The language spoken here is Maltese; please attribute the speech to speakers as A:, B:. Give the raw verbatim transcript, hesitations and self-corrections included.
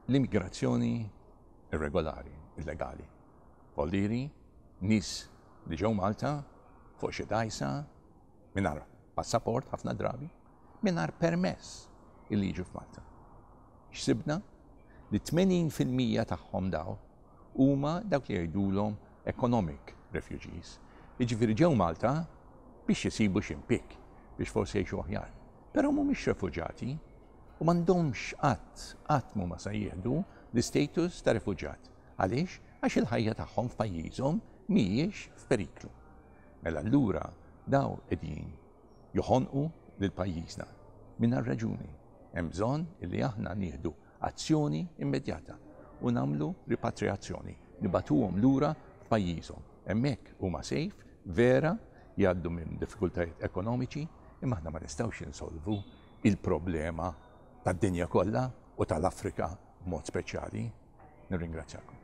A: L-immigrazzjoni irregolari, illegali. Voldiri, nies li ġew Malta fuq xi dgħajsa mingħajr passaport ħafna drabi, mingħajr permess illi jiġu f'Malta. X'sibna? Li tmenin fil-mija tagħhom daw huma dawk li jgħidulhom economic refugees. Jiġifieri ġew Malta biex jisibu xi impjieg biex forsi jgħixu aħjar. Però mhumiex refuġati u m'għandhomx, qatt qatt mhuma se jieħdu l-istatus ta' refuġat. Għaliex? Għax il-ħajja tagħhom f'pajjiżhom mhijiex f'periklu. Mela allura daw qegħdin joħonqu lil pajjiżna. Mingħajr raġuni. Hemm bżonn illi aħna nieħdu azzjoni immedjata u nagħmlu ripatriazzjoni, nibagħtuhom lura f'pajjiżhom. Hemmhekk huma safe, vera jgħaddu minn diffikultajiet ekonomiċi, imma aħna ma nistgħux insolvu il-problema tad-dinja kollha u tal-Afrika b'mod speċjali. Nirringrazzjakom.